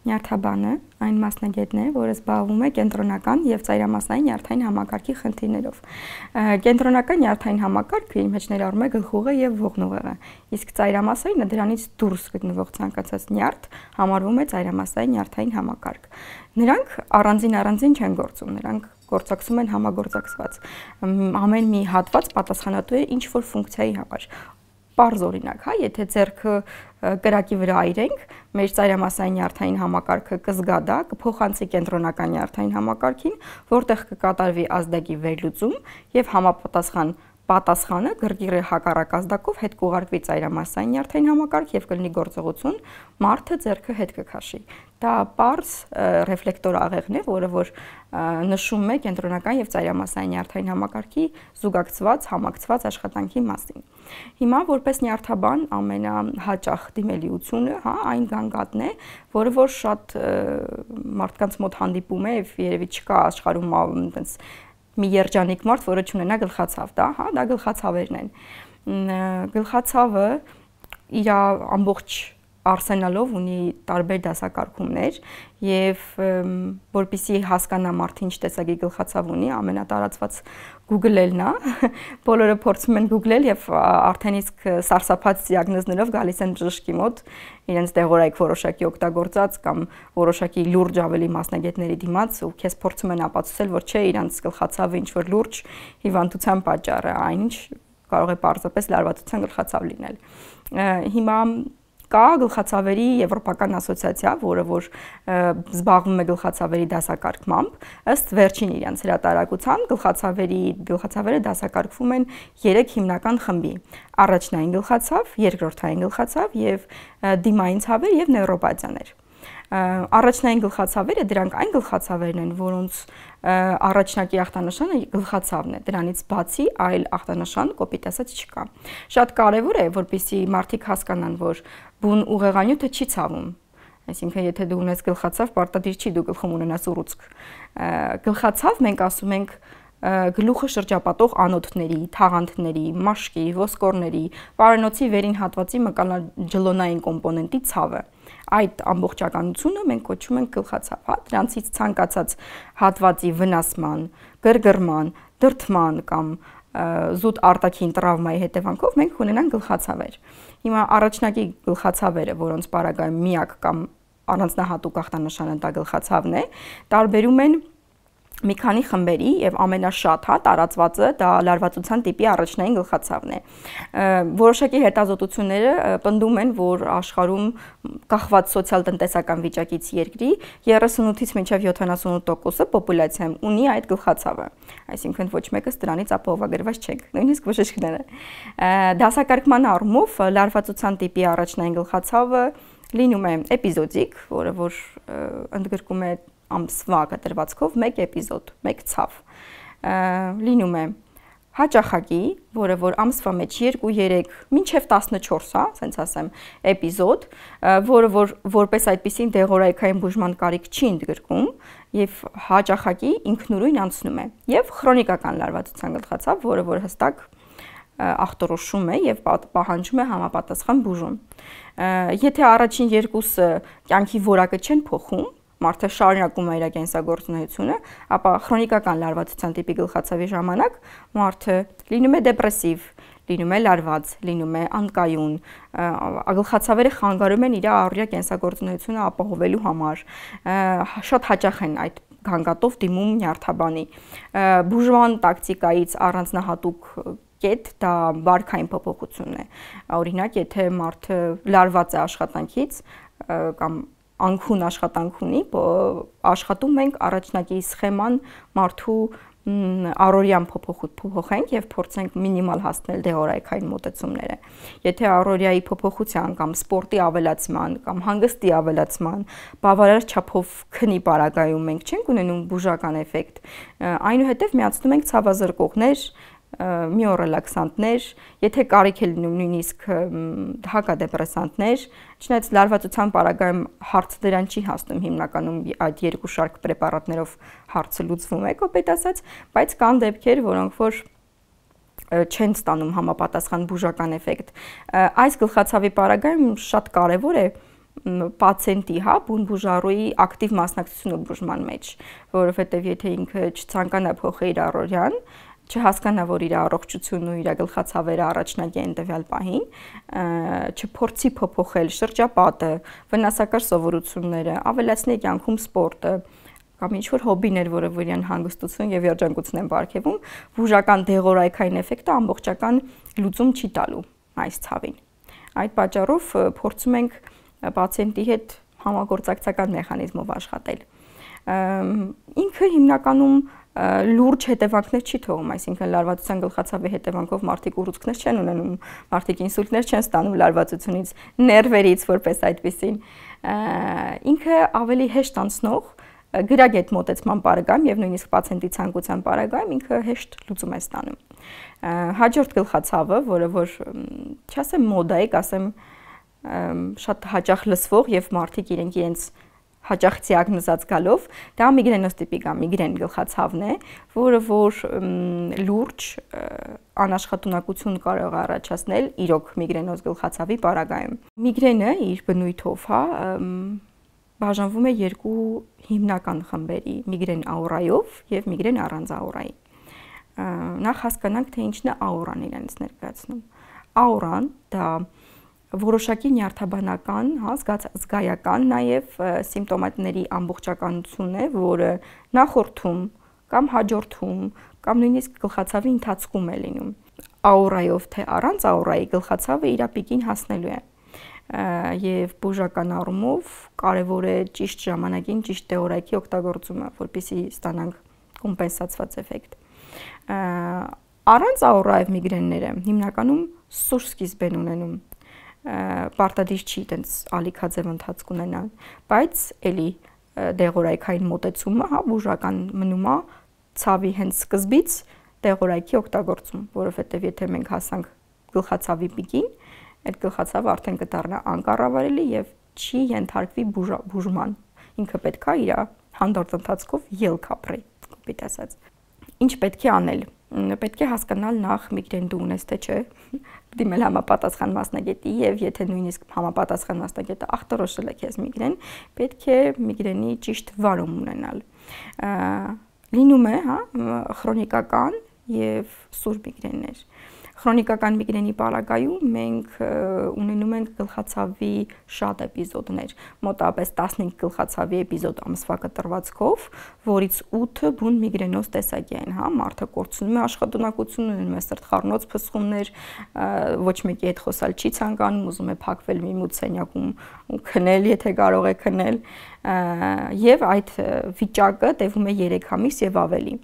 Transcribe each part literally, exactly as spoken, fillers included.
Նյարդաբանը այն մասնագետն է, որը զբաղվում է կենտրոնական եւ ծայրամասնային նյարդային համակարգի խնդիրներով։ Կենտրոնական նյարդային համակարգը իր մեջ ներառում է գլխուղը եւ ողնուղեղը, իսկ ծայրամասայինը դրանից դուրս գտնվող ցանկացած նյարդ համարվում է ծայրամասային նյարդային համակարգ։ Նրանք առանձին առանձին չեն գործում, նրանք գործակցում են համագործակցված։ Ամեն մի հատված պատասխանատու է ինչ որ ֆունկցիայի համար։ Պարզ օրինակ, հա, եթե ձեռքը կրակի վրա այրենք, մեր ծայրամասային նյարդային համակարգը կզգա դա, կփոխանցի կենտրոնական նյարդային համակարգին, որտեղ կկատարվի ազդակի վերլուծում եւ համապատասխան պատասխանը գրգիռի հակառակ ազդակով հետ կուղարկվի ծայրամասային նյարդային համակարգ եւ կլինի գործողություն, մարդը ձեռքը հետ կքաշի։ Դա պարզ ռեֆլեկտոր աղեղն է, որը որ նշում է կենտրոնական եւ ծայրամասային նյարդային համակարգի զուգակցված, համակցված աշխատանքի մասին։ Հիմա որպես նյարդաբան ամենահաճախ դիմելիությունը, հա, այն գանգատն է, որը որ շատ մարդկանց մոտ հանդիպում է եւ երևի չկա աշխարհում այնպես մի երջանիկ մարդ, որը չունենա գլխացավ, դա, հա, դա գլխացավերն են։ Գլխացավը իր ամբողջ արսենալով ունի տարբեր դասակարգումներ եւ որպեսզի հասկանա մարդը ինչ տեսակի գլխացավ ունի, ամենատարածված Google-ելն է, բոլորը փորձում են Google-ել եւ արդեն իսկ սարսափած դիագնոզներով գալիս են բժշկի մոտ, իրենց դեղորայք որոշակի օգտագործած կամ որոշակի լուրջ ավելի մասնագետների դիմաց ու քեզ փորձում են ապացուցել, որ չէ, իրանց գլխացավը ինչ որ լուրջ հիվանդության պատճառ է, այնինչ կարող է պարզապես լարվածության գլխացավ լինել։ Հիմա կա գլխացավերի եվրոպական ասոցիացիա, որը որ զբաղվում է գլխացավերի դասակարգմամբ, ըստ վերջին իրենց հրատարակության գլխացավերի գլխացավերը դասակարգվում են երեք հիմնական խմբի՝ առաջնային գլխացավ, երկրորդային գլխացավ եւ դիմային ցավեր եւ նեյրոպաթիաներ։ Առաջնային գլխացավերը դրանք այն գլխացավերն են, որոնց առաջնակի ախտանշանը գլխացավն է, դրանից բացի այլ ախտանշան կոպիտ ասած չկա։ Շատ կարևոր է, որպեսզի մարդիկ հասկանան, որ բուն ուղեղանյութը չի ցավում, այսինքն եթե դու ունես գլխացավ, պարտադիր չի դու գլխում ունենաս ուռուցք։ Գլխացավ մենք ասում ենք գլուխը շրջապատող անոթների, թաղանթների, մաշկի, ոսկորների, պարանոցի վերին հատվածի մկանաջլոնային կոմպոնենտի ցավը։ Այդ ամբողջականությունը մենք կոչում ենք գլխացավ, հա, դրանցից ցանկացած հատվածի վնասման, գրգռման, դրդման կամ զուտ արտաքին տրավմայի հետևանքով մենք ունենանք գլխացավեր։ Հիմա առաջնակի գլխացավերը, որոնց պարագայում միակ կամ առանձնահատուկ ախտանշանը դա գլխացավն է, տարբերում են մի քանի խմբերի եւ ամենաշատ, հա, տարածվածը դա լարվածության տիպի առաջնային գլխացավն է։ Որոշակի հետազոտությունները պնդում են, որ աշխարհում կախված սոցիալ-տնտեսական վիճակից երկրի երեսունութից մինչև յոթանասունութ տոկոսը պոպուլյացիայում ունի այդ գլխացավը։ Այսինքն ոչ մեկս դրանից ապահովագրված չենք, նույնիսկ բժիշկները։ Դասակարգման առումով լարվածության տիպի առաջնային գլխացավը լինում է էպիզոդիկ, որը որ ընդգրկում է ամսվա կտրվածքով մեկ էպիզոդ, մեկ ցավ։ Լինում է հաճախակի, որը որ ամսվա մեջ երկու երեք մինչև տասնչորս, հա, ասենց ասեմ, էպիզոդ, որը որ որպես այդպիսին դեղորայքային բուժման կարիք չի ընդգրկում եւ հաճախակի ինքնուրույն անցնում է։ Եվ քրոնիկական լարվածության գլխացավ, որը որ հստակ ախտորոշում է եւ պահանջում է համապատասխան բուժում։ Եթե առաջին երկուսը կյանքի որակը չեն փոխում, մարդը շարունակում է իր կենսագործունեությունը, ապա քրոնիկական լարվածության տիպի գլխացավի ժամանակ մարդը լինում է դեպրեսիվ, լինում է լարված, լինում է անկայուն, գլխացավերը խանգարում են իր առօրյա կենսագործունեությունը ապահովելու համար, շատ հաճախ են այդ գանգատով դիմում նյարդաբանի։ Բուժման տակտիկայից առանձնահատուկ կետ դա վարքային փոփոխությունն է։ Օրինակ, եթե մարդը լարված է աշխատանքից կամ անքուն աշխատանք ունի, աշխատում ենք առաջնակի սխեման մարդու առօրյան փոփոխենք եւ փորձենք մինիմալ հասնել դեղորայքային մոտեցումները։ Եթե առօրյայի փոփոխության կամ սպորտի ավելացման կամ հանգստի ավելացման բավարար չափով քնի պարագայում մենք չենք ունենում բուժական էֆեկտ, այնուհետև միացնում ենք ցավազրկողներ, միոռելաքսանտներ, եթե կարիք է լինում նույնիսկ հակադեպրեսանտներ, չնայած լարվածության պարագայում հարցը դրան չի հասնում, հիմնականում այդ երկու շարք պրեպարատներով հարցը լուծվում է, կոպիտ ասած, բայց կան դեպքեր, որոնք որ չեն ստանում համապատասխան բուժական էֆեկտ։ Այս գլխացավի պարագայում շատ կարևոր է պացիենտի, հա, բուն-բուժառուի ակտիվ մասնակցությունը բուժման մեջ, որովհետև եթե ինքը չցանկանա փոխել իր առօրյան, չհասկանա, որ իր առողջությունն ու իր գլխացավերը առաջնագի են տվյալ պահին, չփորձի փոփոխել շրջապատը, վնասակար սովորությունները, ավելացնի կյանքում սպորտը, կամ ինչ-որ հոբիներ, որը իրեն հանգստություն եւ երջանկություն են ապարգևում, բուժական դեղորայքային էֆեկտը ամբողջական լուծում չի տալու այս ցավին։ Այդ պատճառով փորձում ենք պացիենտի հետ համագործակցական մեխանիզմով աշխատել։ Ինքը հիմնականում լուրջ հետևանքներ չի թողում, այսինքն լարվածության գլխացավի հետևանքով մարդիկ ուռուցքներ չեն ունենում, մարդիկ ինսուլտներ չեն ստանում լարվածությունից, ներվերից, որպես այդպեսին։ Ինքը ավելի հեշտ անցնող գրագետ մոտեցման պարագայում եւ նույնիսկ պացիենտի ցանկության պարագայում ինքը հեշտ լուծում է ստանում։ Հաջորդ գլխացավը, որը որ չասեմ մոդա է, ասեմ շատ հաճախ լսվող եւ մարդիկ իրենք իրենց հաճախ դիագնոզած գալով, դա միգրենոստիպիկա, միգրեն գլխացավն է, որը որ լուրջ անաշխատունակություն կարող է առաջացնել իրոք միգրենոզ գլխացավի պարագայում։ Միգրենը իր բնույթով, հա, բաժանվում է երկու հիմնական խմբերի՝ միգրեն աուրայով եւ միգրեն առանց աուրայի։ Նախ հասկանանք, թե ինչն է աուրան իրենց ներկայացնում։ Աուրան դա որոշակի նյարդաբանական, հա, զգայական նաև սիմպտոմատների ամբողջականություն է, որը նախորդում կամ հաջորդում կամ նույնիսկ գլխացավի ընթացքում է լինում։ Աուրայով թե առանց աուրայի գլխացավը իր պիկին հասնելու է եւ բուժական առումով կարեւոր է ճիշտ ժամանակին ճիշտ դեղորայքի օգտագործումը, որպեսզի ստանանք կոմպենսացված էֆեկտ։ Առանց աուրայով միգրենները հիմնականում սուր սկիզբ են ունենում, պարտադիր չի տենց ալիքաձև ընթացք ունենան, բայց էլի դեղորայքային մոտեցումը, հա, բուժական մնում է ցավի հենց սկզբից դեղորայքի օգտագործում, որովհետեւ եթե մենք հասանք գլխացավի պիկին, այդ գլխացավը արդեն կդառնա անկառավարելի եւ չի ենթարկվի բուժման։ Ինքը պետք է իր հանդարտ ընթացքով ելք ապրի, կոպիտ ասած։ Ինչ պետք է անել։ Պետք է հասկանալ նախ միգրեն դու ունես թե չէ, դիմել համապատասխան մասնագետի եւ եթե նույնիսկ համապատասխան մասնագետը ախտորոշել է քեզ միգրեն, պետք է միգրենի ճիշտ վարում ունենալ։ Լինում է, հա, քրոնիկական եւ սուր միգրեններ։ Քրոնիկական միգրենի պարագայում մենք ունենում ենք գլխացավի շատ էպիզոդներ, մոտավորապես տասնհինգ գլխացավի էպիզոդ ամսվա կտրվածքով, որից ութը բուն միգրենոզ տեսակի են, հա, մարդը կորցնում է աշխատունակությունը, ունենում է սրտխառնոց փսխումներ, ոչ մեկի հետ խոսալ չի ցանկանում, ուզում է փակվել մի մութ սենյակում ու քնել, եթե կարող է քնել, եւ այդ վիճակը տևում է երեք ամիս եւ ավելի։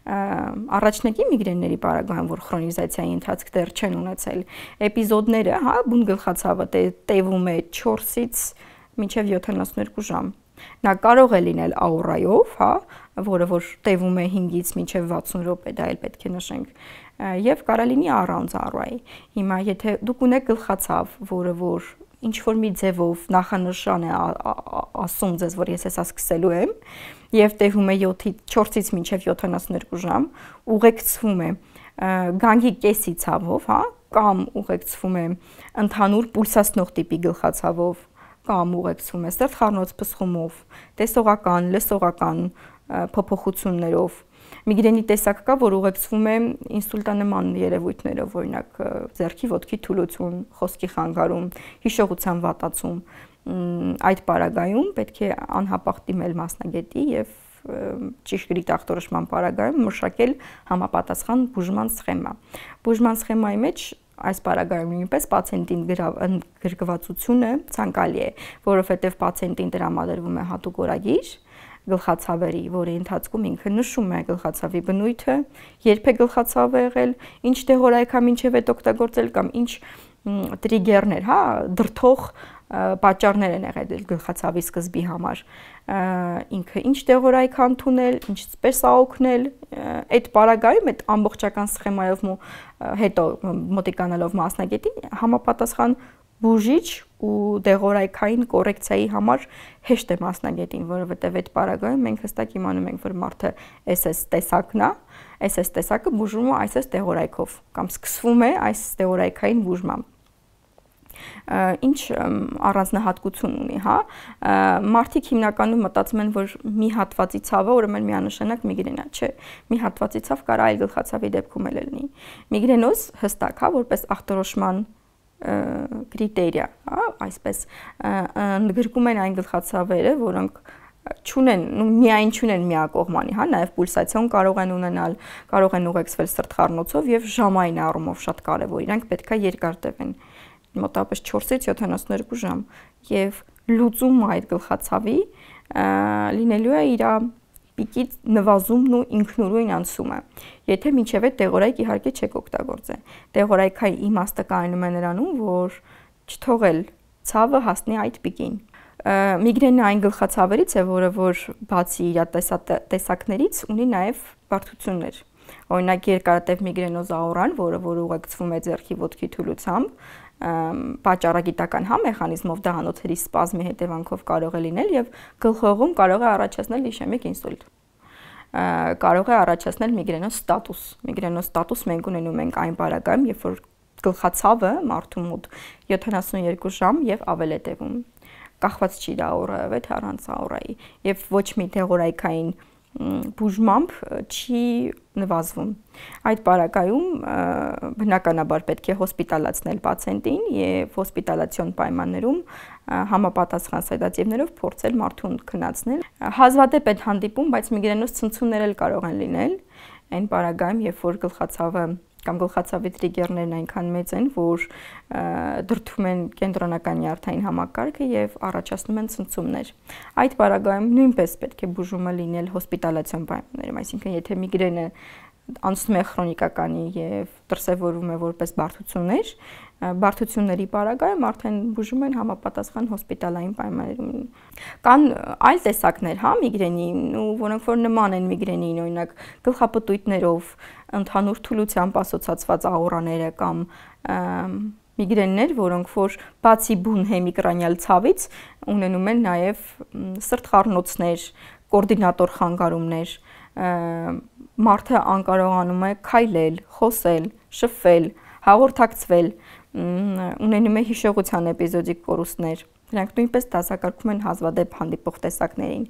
Առաջնակի միգրենների պարագայում, որ քրոնիզացիայի ընթացք դեռ չեն ունեցել, էպիզոդները, հա, բուն գլխացավը տևում է չորսից մինչև յոթանասունհինգ ժամ։ Նա կարող է լինել աուրայով, հա, որը որ տևում է հինգից մինչև վաթսուն րոպե, դա էլ պետք է նշենք, եւ կարող լինի առանց աուրայի։ Հիմա եթե դուք ունեք գլխացավ, որը որ ինչ որ մի ձևով նախանշան է ասում ձեզ, որ ես հեսա սկսելու եմ, եւ տևում է չորսից մինչև յոթանասունհինգ ժամ, ուղեկցվում է գանգի կեսի ցավով, հա, կամ ուղեկցվում է ընդհանուր պուլսացնող տիպի գլխացավով, կամ ուղեկցվում է սրտխառնոց փսխումով, տեսողական, լսողական փոփոխություններով։ Միգրենի տեսակ կա, որ ուղեկցվում է ինսուլտանման երևույթներով, օրինակ ձեռքի ոտքի թուլություն, խոսքի խանգարում, հիշողության վատացում։ Այդ պարագայում պետք է անհապաղ դիմել մասնագետի եւ ճիշտ ախտորոշման պարագայում մշակել համապատասխան բուժման սխեմա։ Բուժման սխեմայի մեջ այս պարագայում նույնպես պացիենտին գրգվածությունը ցանկալի է, որովհետեւ պացիենտին տրամադրվում է հատուկ օրագիր գլխացավերի, որի ընթացքում ինքը նշում է գլխացավի բնույթը, երբ է գլխացավը եղել, ինչ դեղորայքա մինչև այդ օգտագործել կամ ինչ տրիգերներ, հա, դրթող պատճառներ են եղել գլխացավի սկզբի համար, ինքը ինչ դեղորայք ընդունել, ինչպես է օգնել, այդ պարագայում այդ ամբողջական սխեմայով հետո մոտիկանալով մասնագետին համապատասխան բուժիչ ու դեղորայքային կոռեկցիայի համար հեշտ է մասնագետին, որովհետև այդ պարագայում մենք հստակ իմանում ենք, որ մարդը էս էս տեսակն է, էս էս տեսակը բուժվում է այս էս դեղորայքով կամ սկսվում է այս դեղորայքային բուժմամբ։ Ինչ առանձնահատկություն ունի, հա։ Մարդիկ հիմնականում մտածում են, որ մի հատվածի ցավը ուրեմն միանշանակ միգրենա, չէ։ Մի հատվածի ցավ կարող այլ գլխացավի դեպքում էլ լինի։ Միգրենոզ հստակ, հա, որպես ախտորոշման կրիտերիա, հա, այսպես ընդգրկում են այն գլխացավերը, որոնք չունեն, միայն չունեն միակողմանի, հա, նաև պուլսացիոն կարող են ունենալ, կարող են ուղեկցվել սրտխառնոցով եւ ժամային առումով շատ կարեւոր, իրանք պետքա երկար տևեն, մոտավորապես չորսից յոթանասուններկու ժամ, եւ լուծումը այդ գլխացավի լինելու է իր պիկի նվազումն ու ինքնուրույն անցումը։ Եթե մինչև այդ դեղորայք իհարկե չեք օգտագործել։ Դեղորայքայի իմաստը կայանում է նրանում, որ չթողել ցավը հասնի այդ պիկին։ Միգրենը այն գլխացավերից է, որը որ բացի իր տեսակներից ունի նաև բարդություններ։ Օրինակ երկարատև միգրենոզ աուրան, որը որ ուղեկցվում է ձեռքի ոտքի թուլությամբ, պատճառագիտական հա մեխանիզմով դահանոցների սպազմի հետևանքով կարող է լինել եւ գլխողում կարող է առաջացնել իշեմիկ ինսուլտ։ Կարող է առաջացնել միգրենոզ ստատուս։ Միգրենոզ ստատուս մենք ունենում ենք այն պարագայում, երբ որ գլխացավը մարդու մոտ յոթանասունյերկու ժամ եւ ավել է տևում։ Կախված չի դա աուրայով է թե առանց աուրայի եւ ոչ մի դեղորայքային բուժմամբ չի նվազվում։ Այդ պարագայում բնականաբար պետք է հոսպիտալացնել պացիենտին եւ հոսպիտալացիոն պայմաններում համապատասխան սեդատիվներով փորձել մարդուն քննացնել։ Հազվադեպ այդ հանդիպում, բայց միգրենոզ ցնցումներ էլ կարող են լինել այն պարագայում, երբ որ գլխացավը կամ գլխացավի տրիգերներն այնքան մեծ են, որ դրդում են կենտրոնական նյարդային համակարգը եւ առաջացնում են ցնցումներ։ Այդ պարագայում նույնպես պետք է բուժումը լինել հոսպիտալացիոն պայմաններում, այսինքն եթե միգրենը անցնում է քրոնիկականի եւ դրսեւորվում է որպես բարդություններ, բարդությունների պարագայում արդեն բուժում են համապատասխան հոսպիտալային պայմաններում։ Կան այլ տեսակներ, հա, միգրենի, ու որոնք որ նման են միգրենին, օրինակ գլխապտույտներով, ընդհանուր թուլությամբ ասոցացված աուրաները կամ միգրեններ, որոնք որ բացի բուն հեմիկրանիալ ցավից ունենում են նաև սրտխառնոցներ, կոորդինատոր խանգարումներ, մարդը անկարողանում է քայլել, խոսել, շփվել, հաղորդակցվել, ունենում է հիշողության էպիզոդիկ կորուստներ։ Նրանք նույնպես դասակարգվում են հազվադեպ հանդիպող տեսակներին։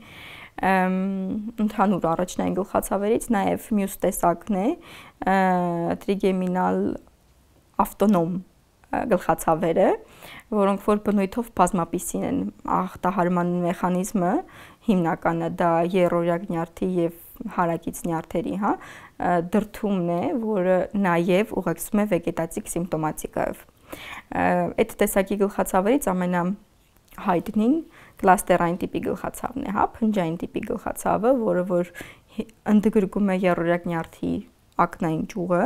Ընդհանուր առաջնային գլխացավերից նաև մյուս տեսակն է տրիգեմինալ ավտոնոմ գլխացավերը, որոնք որ բնույթով բազմապիսին են, ախտահարման մեխանիզմը հիմնականը դա եռօրյակ նյարդի եւ հարակից նյարդերի, հա, դրդումն է, որը նաև ուղեկցվում է վեգետատիկ սիմպտոմատիկայով։ Այդ տեսակի գլխացավերից ամենահայտնին կլաստերային տիպի գլխացավն է, հա, փնջային տիպի գլխացավը, որը որ ընդգրկում է եռօրյակ նյարդի ակնային ճյուղը,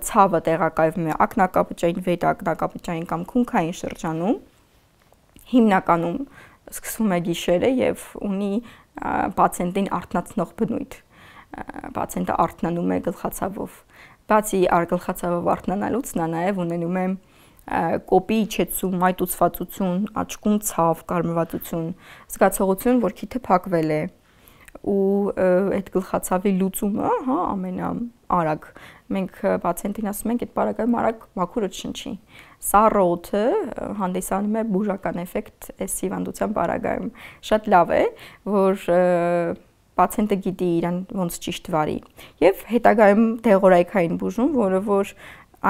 ցավը տեղակայվում է ակնակապճային, վերակնակապճային կամ քունքային շրջանում, հիմնականում սկսվում է գիշերը եւ ունի պացիենտին արթնացնող բնույթ։ Պացիենտը արթնանում է գլխացավով։ Բացի արգլխացավով արթնանալուց նա նաև ունենում է կոպի իջեցում, մայտուցվածություն, աչքում ցավ, կարմրվածություն, զգացողություն, որ քիթը փակվել է ու այդ գլխացավի լուծումը, հա, ամենաարագ մենք պացիենտին ասում ենք այդ պարագայում արագ մաքուրը չշնչի։ Սառը օդը հանդիսանում է բուժական էֆեկտ այս հիվանդության պարագայում։ Շատ լավ է, որ պացիենտը գիտի իրան ոնց ճիշտ վարի եւ հետագայում դեղորայքային բուժում, որը որ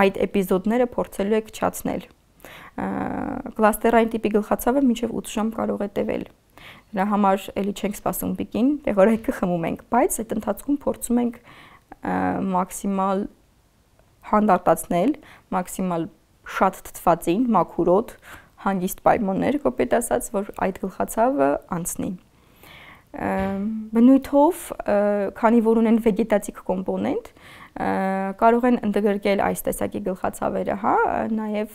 այդ էպիզոդները փորձելու է քչացնել։ Կլաստերային տիպի գլխացավը մինչև ութ ժամ կարող է տևել։ Դրա համար էլի չենք սպասում պիկին, դեղորայքը խմում ենք, բայց այդ ընթացքում փորձում ենք մաքսիմալ հանդարտացնել, մաքսիմալ շատ թթվածին, մաքուրոտ, հանգիստ պայմաններ, կոպիտ ասած, որ այդ գլխացավը անցնի։ Բնույթով, քանի որ ունեն վեգետատիկ կոմպոնենտ, կարող են ընդգրկել այս տեսակի գլխացավերը, հա, նաև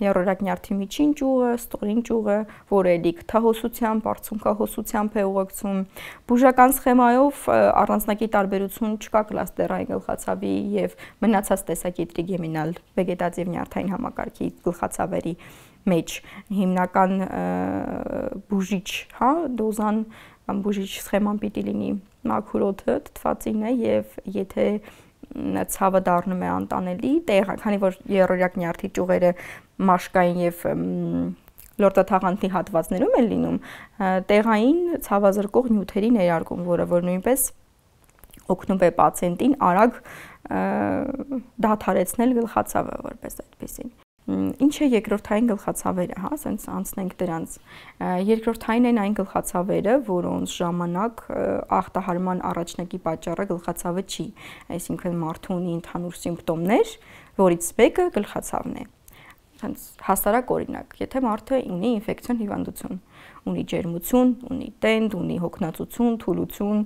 եռօրյակ նյարդի միջին ճյուղը, ստորին ճյուղը, որը էլի քթահոսությամբ, արցունքահոսությամբ է ուղեկցում։ Բուժական սխեմայով առանձնակի տարբերություն չկա կլաստերային գլխացավի եւ մնացած տեսակի տրիգեմինալ վեգետատիվ նյարդային համակարգի գլխացավերի մեջ հիմնական բուժիչ, հա, դոզան կամ բուժիչ սխեման պիտի լինի մաքուրոթը, թթվածինը եւ եթե ցավը դառնում է անտանելի, քանի որ երրորդ նյարդի ճյուղերը մաշկային եւ լորտաթաղանթի հատվածներում են լինում, տեղային ցավազրկող նյութերի ներարկում, որը որ նույնպես օգնում է պացիենտին արագ դադարեցնել գլխացավը, որպես այդպեսին։ Ինչ է երկրորդային գլխացավերը, հա, ասենց անցնենք դրանց։ Երկրորդային են այն գլխացավերը, որոնց ժամանակ ախտահարման առաջնակի պատճառը գլխացավը չի, այսինքն մարդը ունի ընդհանուր սիմպտոմներ, որից մեկը գլխացավն է։ Հասարակ օրինակ, եթե մարդը ունի ինֆեկցիոն հիվանդություն, ունի ջերմություն, ունի տենդ, ունի հոգնածություն, թուլություն,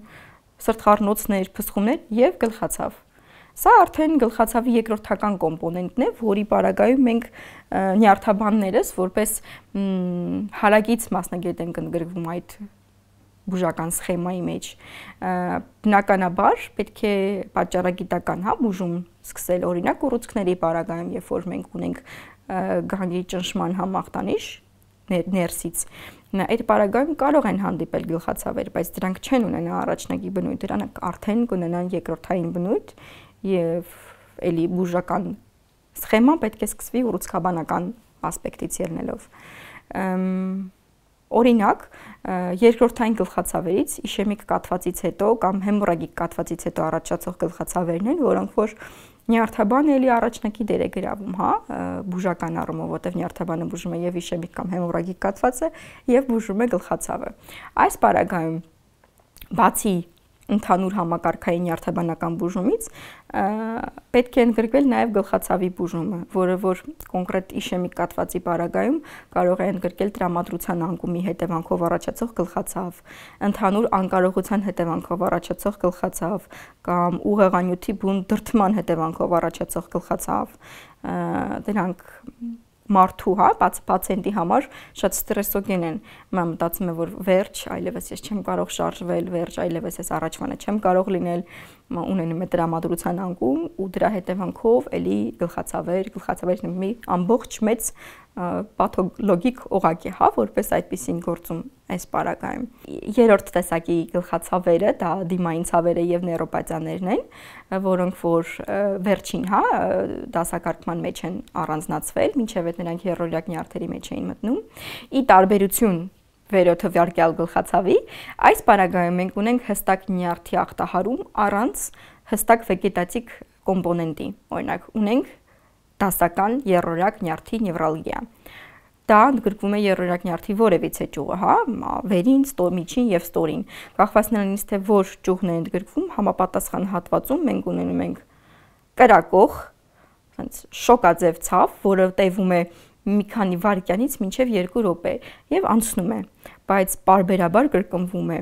սրտխառնոցներ, փսխումներ եւ գլխացավ։ Սա արդեն գլխացավի երկրորդական կոմպոնենտն է, որի պարագայում մենք նյարդաբաններս որպես հարակից մասնագետ ենք ընդգրկվում այդ բուժական սխեմայի մեջ։ Բնականաբար պետք է պատճառագիտական, հա, բուժում սկսել, օրինակ ուռուցքների պարագայում, երբ որ մենք ունենք գանգի ճնշման համախտանիշ ներսից, այդ պարագայում կարող են հանդիպել գլխացավեր, բայց դրանք չեն ունենա առաջնակի բնույթ, դրանք արդեն կունենան երկրորդային բնույթ եւ էլի բուժական սխեման պետք է սկսվի ուռուցքաբանական ասպեկտից ելնելով։ Օրինակ, երկրորդային գլխացավերից իշեմիկ կաթվածից հետո կամ հեմորագիկ կաթվածից հետո առաջացող գլխացավերն են, որոնք որ նյարդաբանը էլի առաջնակի դեր է գրավում, հա, բուժական առումով, որտեղ նյարդաբանը բուժում է եւ իշեմիկ կամ հեմորագիկ կաթվածը եւ բուժում է գլխացավը։ Այս պարագայում բացի ընդհանուր համակարգային նյարդաբանական բուժումից պետք է ընդգրկվել նաև գլխացավի բուժումը, որը որ կոնկրետ իշեմիկ կաթվածի պարագայում կարող է ընդգրկել տրամադրության անկումի հետևանքով առաջացող գլխացավ, ընդհանուր անկարողության հետևանքով առաջացող գլխացավ կամ ուղեղանյութի բուն դրդման հետևանքով առաջացող գլխացավ, դրանք մարդու, հա, պացիենտի համար շատ ստրեսոգեն են։ Mən մտածում եմ, որ վերջ, այլևս ես չեմ կարող շարժվել, վերջ, այլևս ես առաջվանը չեմ կարող լինել, ունենում է տրամադրության անկում ու դրա հետևանքով էլի գլխացավեր, գլխացավերն մի ամբողջ մեծ պաթոլոգիկ օղակ է, հա, որպես այդպեսին գործում այս պարագայում։ Երրորդ տեսակի գլխացավերը դա դիմային ցավերը եւ նեյրոպաթիաներն են, որոնք որ վերջին, հա, դասակարգման մեջ են առանձնացվել, մինչեւ այդ նրանք երրորդ նյարդերի մեջ էին մտնում։ Ի տարբերություն վերոթվյարկյալ գլխացավի, այս պարագայում մենք ունենք հստակ նյարդի ախտահարում առանց հստակ վեգետատիկ կոմպոնենտի։ Օրինակ, ունենք դասական երրորդ նյարդի նևրալգիա։ Դա ընդգրկվում է երրորդ նյարդի որևիցե ճյուղը, հա, վերին, միջին եւ ստորին։ Կախված նրանից թե որ ճյուղն է ընդգրկվում, համապատասխան հատվածում մենք ունենում ենք կրակող, ասենց շոկաձև ցավ, որը տևում է մի քանի վայրկյանից մինչև երկու րոպե եւ անցնում է, բայց պարբերաբար կրկնվում է։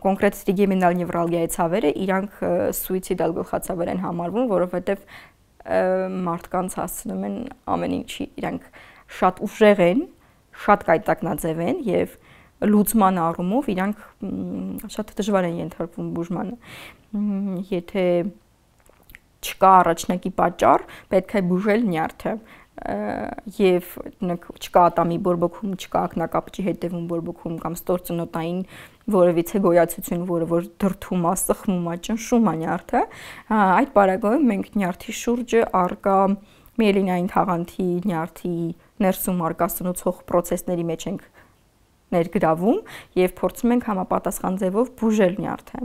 Կոնկրետ տրիգեմինալ նևրալգիայի ցավերը իրանք սուիցիդալ գլխացավեր են համարվում, որովհետեւ մարդկանց հասցնում են ամեն ինչի, իրանք շատ ուժեղ են, շատ կայտակնաձև են եւ լուծման առումով իրանք շատ դժվար են ենթարկվում բուժմանը։ Եթե չկա առաջնակի պատճառ, պետք է բուժել նյարդը եւ չկա ատամի բորբոքում, չկա ակնակապճի հետևում բորբոքում կամ ստործնոտային որևիցե գոյացություն, որը որ դրդում է, սխմում է, ճնշում է նյարդը, այդ պարագայում մենք նյարդի շուրջը արկա միելինային թաղանթի նյարդի ներսում արկա սնուցող process-ների մեջ ենք ներգրավում եւ փորձում ենք համապատասխան ձևով բուժել նյարդը։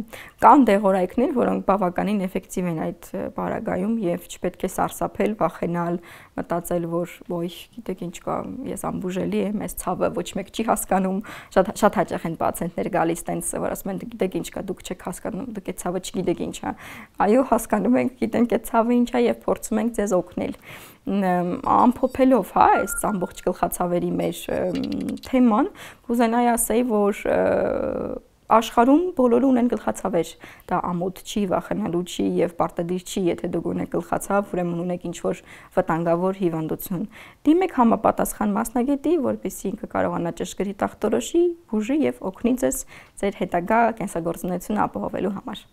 Կան դեղորայքներ, որոնք բավականին էֆեկտիվ են այդ պարագայում եւ չպետք է սարսափել, վախենալ, մտածել, որ ոյ, գիտեք ինչ կա, ես անբուժելի եմ, այս ցավը ոչ մեկ չի հասկանում։ Շատ շատ հաճախ են պացիենտներ գալիս տենց, որ ասում են գիտեք ինչ կա, դուք չեք հասկանում, դուք այդ ցավը չգիտեք ինչ է։ Այո, հասկանում ենք, գիտենք այդ ցավը ինչ է եւ փորձում ենք ձեզ օգնել։ Ամփոփելով, հա, այս ամբողջ գլխացավերի մեր թեման, կուզենայի ասեի, որ աշխարհում բոլորը ունեն գլխացավեր, դա ամոթ չի, վախենալու չի եւ պարտադիր չի, եթե դուք ունեք գլխացավ, ուրեմն ունեք ինչ-որ վտանգավոր հիվանդություն։ Դիմեք համապատասխան մասնագետի, որպեսզի ինքը կարողանա ճշգրիտ ախտորոշի, բուժի եւ օգնի ձեզ ձեր հետագա կենսագործունեությունը ապահովելու համար։